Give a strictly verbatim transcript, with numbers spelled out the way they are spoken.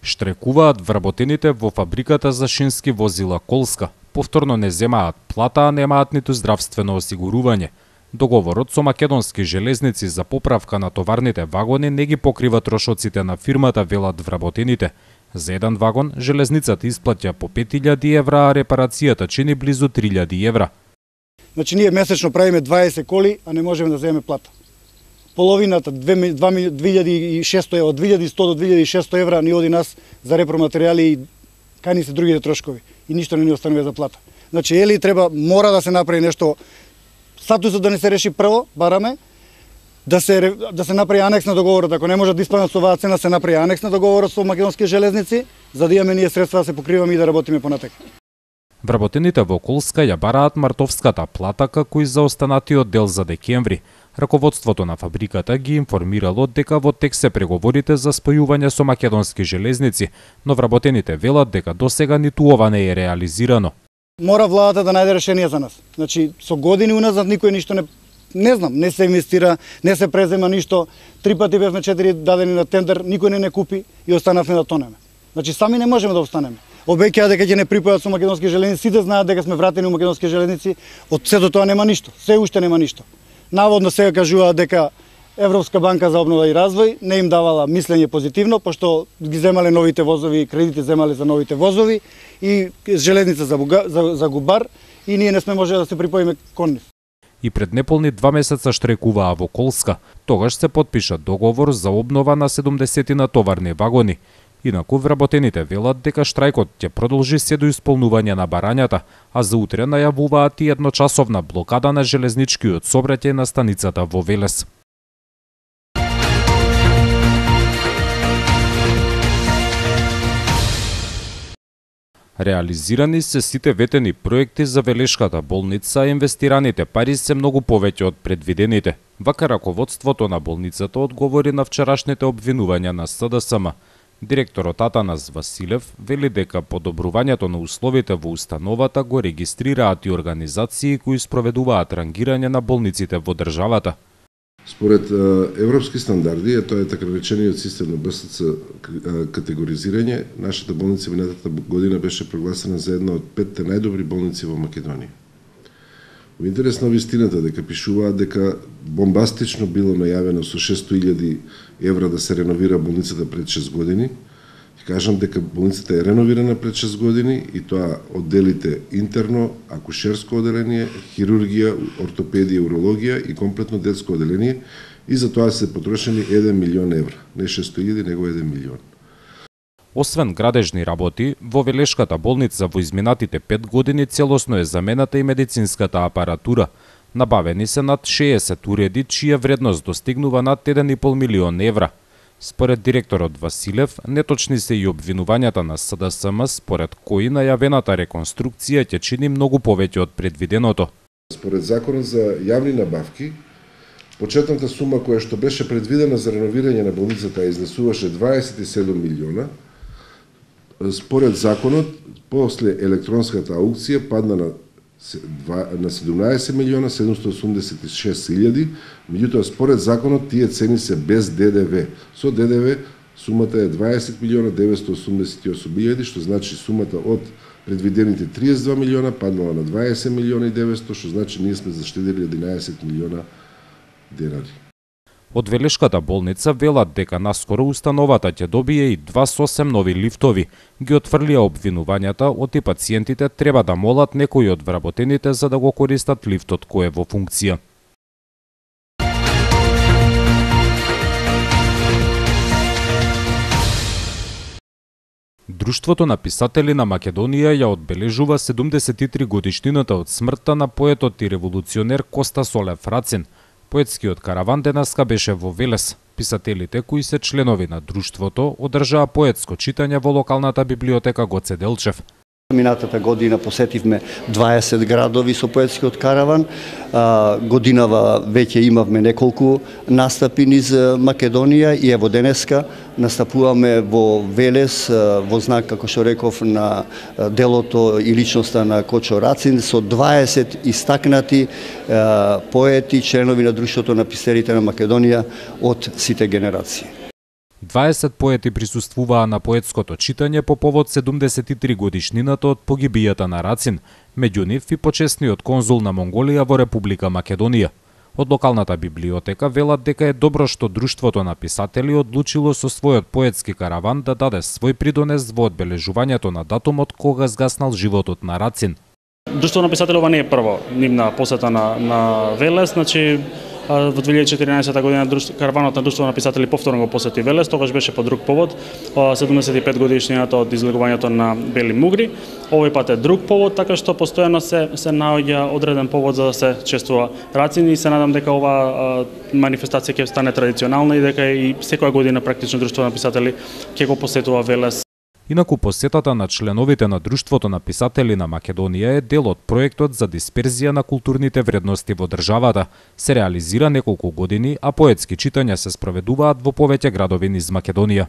Штрекуваат вработените во фабриката за шински возила Колска. Повторно не земаат плата, а немаат ниту здравствено осигурување. Договорот со Македонски железници за поправка на товарните вагони не ги покрива трошоците на фирмата, велат вработените. За еден вагон железницата исплаќа по пет илјади евра, а репарацијата чини близу три илјади евра. Значи ние месечно правиме дваесет коли, а не можеме да земеме плата. Половината, две илјади и шесто евра, од две илјади и сто до две илјади и шесто евра ни оди нас за репроматеријали и кај ни се другите трошкови. И ништо не ни останува за плата. Значи, ели треба, мора да се направи нешто, статусот да не се реши прво, бараме, да се, да се направи анекс на договорот. Ако не може да испаднат со оваа цена, се направи анекс на договорот со Македонски железници, за да имаме ние средства да се покриваме и да работиме понатака. Вработените во Колска ја бараат мартовската плата како и за останатиот дел за декември. Раководството на фабриката ги информирало дека во тек се преговорите за спојување со Македонски железници, но вработените велат дека досега ниту ова не е реализирано. Мора владата да најде решение за нас. Значи, со години уназад никој ништо не не знам, не се инвестира, не се презема ништо. Три пати бевме четири дадени на тендер, никој не не купи и останавме да тонеме. Значи сами не можеме да останеме. Обеќаа дека ќе не припојат со Македонски железници, сите знаат дека сме вратени у Македонски железници, од се до тоа нема ништо, се уште нема ништо. Наводно сега кажуваат дека Европска банка за обнова и развој не им давала мислење позитивно, пошто ги земале новите возови, кредити земале за новите возови и железница за, Буга, за, за Губар и ние не сме можеле да се припоиме кон нив. И пред неполни два месеца штрекуваа во Колска. Тогаш се потпиша договор за обнова на седумдесетина товарни вагони. Инаку вработените велат дека штрајкот ќе продолжи се до исполнување на барањата, а за утре најавуваат и едночасовна блокада на железничкиот сообраќај на станицата во Велес. Реализирани се сите ветени проекти за Велешката болница, а инвестираните пари се многу повеќе од предвидените. Вака раководството на болницата одговори на вчерашните обвинувања на С Д С М. Директорот Атанас Василев вели дека подобрувањето на условите во установата го регистрираат и организации кои спроведуваат рангирање на болниците во државата. Според европски стандарди, а тоа е така наречениот систем на Б С Ц категоризирање, нашата болница минатата година беше прогласена за една од петте најдобри болници во Македонија. Во интерес на вистината дека пишуваат дека бомбастично било најавено со шесто илјади евра да се реновира болницата пред шест години. Ќе кажам дека болницата е реновирана пред шест години и тоа одделите интерно, акушерско одделение, хирургија, ортопедија, урологија и комплетно детско одделение и за тоа се потрошени еден милион евра. Не шесто илјади, него еден милион. Освен градежни работи, во Велешката болница во изминатите пет години целосно е замената и медицинската апаратура. Набавени се над шеесет уреди, чија вредност достигнува над еден и пол милион евра. Според директорот Василев, неточни се и обвинувањата на С Д С М, според кои најавената реконструкција ќе чини многу повеќе од предвиденото. Според законот за јавни набавки, почетната сума која што беше предвидена за реновирање на болницата изнесуваше дваесет и седум милиона. Според законот, после електронската аукција падна на на седумнаесет милиона седумстотини осумдесет и шест илјади, меѓутоа според законот тие цени се без Д Д В. Со Д Д В сумата е дваесет милиона деветстотини осумдесет и осум илјади, што значи сумата од предвидените триесет и два милиона паднала на дваесет милиона и деветстотини, што значи ние сме заштедили единаесет милиона денари. Од Велешката болница велат дека наскоро установата ќе добие и два сосем нови лифтови. Ги отфрлија обвинувањата од и пациентите треба да молат некои од вработените за да го користат лифтот кој е во функција. Друштвото на писатели на Македонија ја одбележува седумдесет и три годишнината од смртта на поетот и револуционер Коста Солев Рацин. Поетскиот караван денеска беше во Велес. Писателите кои се членови на друштвото одржаа поетско читање во локалната библиотека Гоце Делчев. Минатата година посетивме дваесет градови со поетскиот караван. Годинава веќе имавме неколку настапи низ Македонија и ево денеска настапуваме во Велес во знак, како што реков, на делото и личноста на Кочо Рацин со дваесет истакнати поети, членови на Друштвото на писателите на Македонија од сите генерации. дваесет поети присуствуваа на поетското читање по повод седумдесет и три годишнината од погибијата на Рацин, меѓу нив и почесниот конзул на Монголија во Република Македонија. Од локалната библиотека велат дека е добро што Друштвото на писатели одлучило со својот поетски караван да даде свој придонес во одбележувањето на датумот кога згаснал животот на Рацин. Друштвото на писатели ова не е прво нивна посета на, на Велес, значи во две илјади и четиринаесета година караванот на Друштвото на писатели повторно го посети Велес, тогаш беше по друг повод, седумдесет и пет годишнината од излегувањето на Бели Мугри. Овој пат е друг повод, така што постојано се се наоѓа одреден повод за да се чествува Рацин и се надам дека ова манифестација ќе стане традиционална и дека и секоја година практично Друштвото на писатели ќе го посетува Велес. Инаку посетата на членовите на Друштвото на писатели на Македонија е дел од проектот за дисперзија на културните вредности во државата. Се реализира неколку години, а поетски читања се спроведуваат во повеќе градови низ Македонија.